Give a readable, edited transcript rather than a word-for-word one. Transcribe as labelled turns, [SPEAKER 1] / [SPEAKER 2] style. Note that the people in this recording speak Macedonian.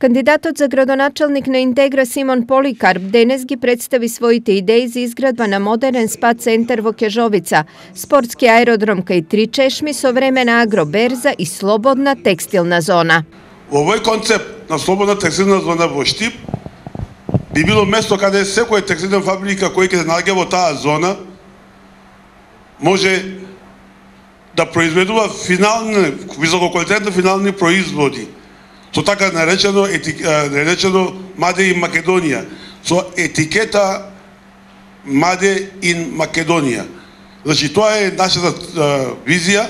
[SPEAKER 1] Кандидатот за градоначалник на Интегра Симон Поликарп денес ги представи своите идеи за изградба на модерен спа центар во Кежовица, спортски аеродром кај Три чешми, современа агроберза и слободна текстилна зона.
[SPEAKER 2] Во овој концепт на слободна текстилна зона во Штип би било место каде секоја текстилна фабрика која ќе се наоѓа во таа зона може да произведува висококвалитетни финални производи, со така наречено Made in Македонија, со етикета Made in Македонија. Значи, тоа е нашата визија.